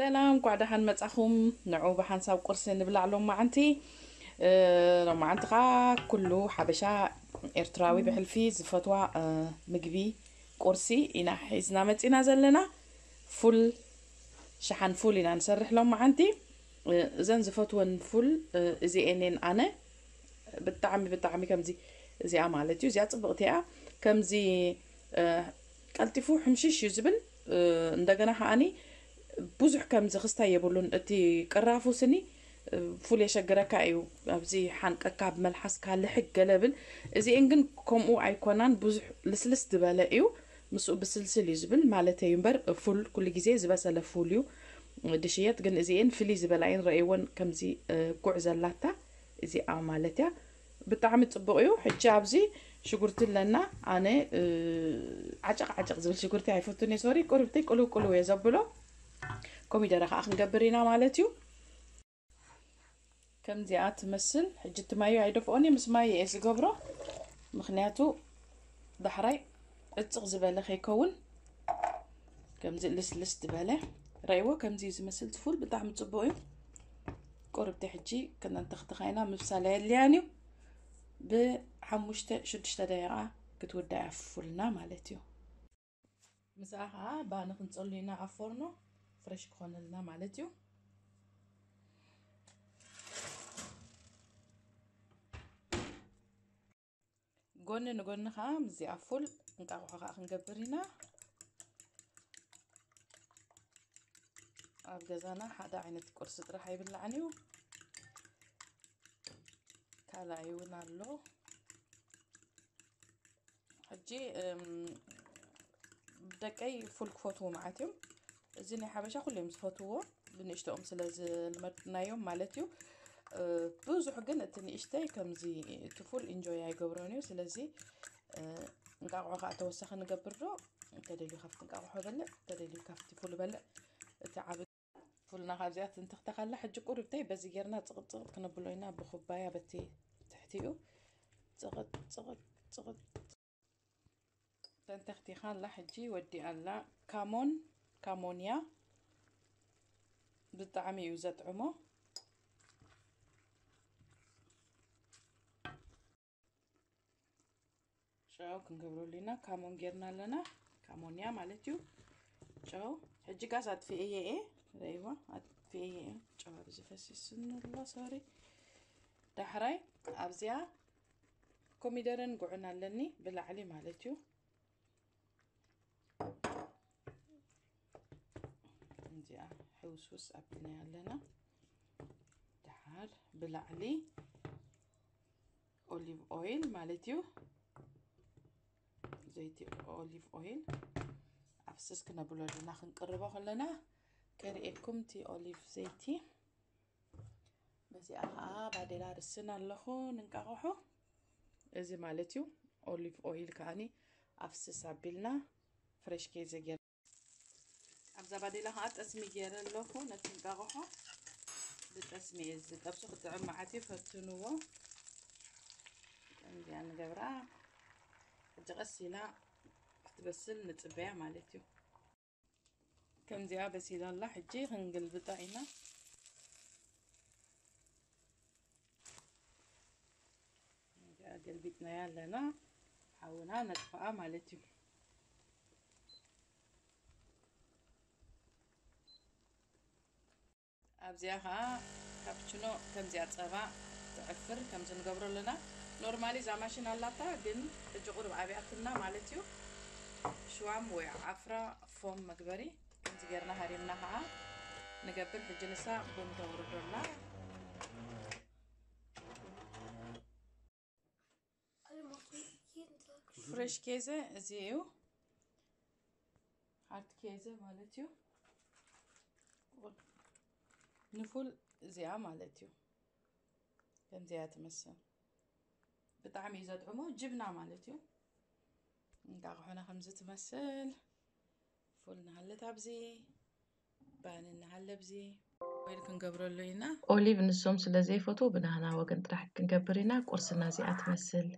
ሰላም፣ እንኳዕ ደሓን መጻኹም። ንዑ ብሓንሳብ ቁርሲ ንብላዕ ሎማዓንቲ። እ፣ ሎማዓንቲ ኸዓ ኩሉ ሓበሻ ኤርትራዊ ብሕልፊ ዝፈትዋ፣ እ፣ ምግቢ ቁርሲ ኢና ሒዝና መጺና ዘለና። ፉል፣ ሸሓን ፉል ኢና ንሰርሕ ሎማዓንቲ። እ፣ እዘን ዝፈትወን ፉል፣ እ፣ እዚኤን እየን ኣነ። ብጣዕሚ፣ ብጣዕሚ ከምዚ፣ እዚኣ ማለት እዩ። እዚኣ ጽብቕቲ እያ። ከምዚ፣ እ፣ ቀልጢፉ ሕምሽሽ እዩ ዝብል። እ፣ እንደገና ከዓኒ ብዙሕ ከምዚ ክስታይ የብሉን። እቲ ቅራፉ ስኒ፣ እ፣ ፉል የሸግረካ እዩ። ኣብዚ ሓንቀካ፣ ኣብ መልሓስካ ልሕግ ገለ ብል። እዚኤን ግን ከምኡ ኣይኮናን። ብዙሕ ልስልስ ዝበለ እዩ። ምስኡ ብስልስል እዩ ዝብል ማለት እዩ እምበር፣ ፉል ኩሉ ግዜ ዝበሰለ ፉል እዩ ድሽየጥ። ግን እዚኤን ፍልይ ዝበላ እየን። ረእይወን ከምዚ፣ እ፣ ጉዕ ዘላታ እዚኣ ማለት እያ። ብጣዕሚ ጽቡቕ እዩ። ሕጂ ኣብዚ ሽጉርቲ ኣለና። ኣነ፣ እ፣ ዓጨቕ ዓጨቕ ዝብል ሽጉርቲ ኣይፈቱን እየ። ሶሪ፣ ቁርብተይ ቁልው ቁልው እየ ዘብሎ። ኮሚደረ ከኣ ክንገብር ኢና ማለት እዩ። ከምዚኣ ትመስል። ሕጂ እቲ ማዩ ኣይደፍኦን እየ፣ ምስ ማዩ እየ ዝገብሮ። ምኽንያቱ ዳሕራይ ዕጽቕ ዝበለ ከይከውን፣ ከምዚ ልስልስ ዝበለ። ረእይዎ፣ ከምዚ እዩ ዝመስል። እቲ ፉል ብጣዕሚ ጽቡቕ እዩ። ቁርብቲ ሕጂ ክነንተኽትኻ ኢና፣ ምብሳል ኣየድልያን እዩ። ብሓሙሽተ ሽዱሽተ ደቂቓ ክትውዳእ እያ ፉልና ማለት እዩ። ምስኣ ኸዓ ባኒ ክንጸሉ ኢና ኣብ ፎርኖ፣ ፍሬሽ ክኾነልና ማለት እዩ። ጎኒ ንጎኒ ኸዓ ምስዚኣ ፉል እንቃቑሖ ኸዓ ክንገብር ኢና። ኣብ ገዛና ሓደ ዓይነት ቁርሲ ጥራሕ ኣይብላዕን እዩ። ካልኣይ እውን ኣሎ። ሕጂ፣ እም፣ ደቀይ ፉል ክፈትዎ መዓት እዮም። እዚ ናይ ሓበሻ ኩሎም ዝፈትዎ፣ ብንእሽተኦም ስለ ዝልመድናዮም ማለት እዩ። እ፣ ብዙሕ ግን እቲ ንእሽተይ ከምዚ እቲ ፉል ኢንጆይ ኣይገብሮን እዩ። ስለዚ፣ እ፣ እንቃቑሖ ከዓ ተወሳኺ ንገብር ዶ? እንተደልዩ ካብቲ እንቃቑሖ በልዕ፣ እንተደልዩ ካብቲ ፉል በልዕ። እቲ ዓቢ ፉልና ካብዚኣ ትንተኽተኻላ። ሕጂ ቁርብተይ በዚ ጌርና ጽቕጥ ጽቕጥ ክነብሎ ኢና፣ ብኹባያ በቲ ትሕቲኡ። ጽቕጥ ጽቕጥ ጽቕጥ ተንተኽቲኻ ኣላ። ሕጂ ወዲኣ ኣላ። ካሞን፣ ካሞንያ ብጣዕሚ እዩ ዘጥዕሞ። ጨው ክንገብረሉ ኢና። ካሞን ጌርና ኣለና። ካሞንያ ማለት እዩ። ጨው ሕጂ ጋዝ ኣጥፊኤ እየ። ረይዋ ኣጥፊኤ እየ። ጨው ኣብዚ ፈሲስኒ ኣሎ። ሶሪ። ዳሕራይ ኣብዚኣ ኮሚደረን ጉዕን ኣለኒ ብላዕሊ ማለት እዩ። እዚኣ ሕውስውስ ኣብልናያ ኣለና። ደሓር ብላዕሊ ኦሊቭ ኦይል ማለት እዩ። ዘይቲ ኦሊቭ ኦይል ኣፍስስ ክነብሎ ኣለና። ክንቅርቦ ከለና ከርእየኩም እቲ ኦሊቭ ዘይቲ። በዚኣ ኸዓ ባዴላ ርስን ኣለኹ ንንቃቕሖ። እዚ ማለት እዩ። ኦሊቭ ኦይል ከዓኒ ኣፍስስ ኣቢልና ፍሬሽ ኬዘ ጌር ኣብዛ ባዴላ ኸዓ ጠስሚ ገይረ ኣለኹ። ነቲ እንቃቕሖ ብጠስሚ እየ ዝጠብሶ። ክጥዕም መዓት እዩ፣ ፈትንዎ። ከምዚኣ ንገብራ። ሕጂ ቀስ ኢላ ክትበስል ንጽበያ ማለት እዩ። ከምዚኣ በሲላ ኣላ። ሕጂ ክንግልብጣ ኢና። ከምዚኣ ገልቢጥናያ ኣለና። ሓውና ነጥፍኣ ማለት እዩ። ኣብዚኣ ኸዓ ካፕችኖ ከምዚኣ ጸባ ትዕፍር ከምዚ ንገብሮ ኣለና። ኖርማሊ እዛ ማሽን ኣላታ፣ ግን ሕጂ ቁሩብ ኣብያትና ማለት እዩ። ሽዋም ወይ ዓፍራ ፎም መግበሪ ከምዚ ጌርና ሃሪምና ኸዓ ንገብር። ሕጂ ንሳ ቡን ተውርዶ ኣላ። ፍሬሽ ኬዘ እዚ እዩ። ሃርት ኬዘ ማለት እዩ። ንፉል እዚኣ ማለት እዩ። ከምዚኣ ትመስል። ብጣዕሚ እዩ ዘጥዕሞ። ጅብና ማለት እዩ። እንቃቑሖና ከምዚ ትመስል። ፉል ንሃለት ኣብዚ፣ ባኒ ንሃለ ኣብዚ። ኦይል ክንገብረሉ ኢና። ኦሊቭ ንሶም ስለ ዘይፈትዉ ብናህና ወገን ጥራሕ ክንገብር ኢና። ቁርስና እዚኣ ትመስል።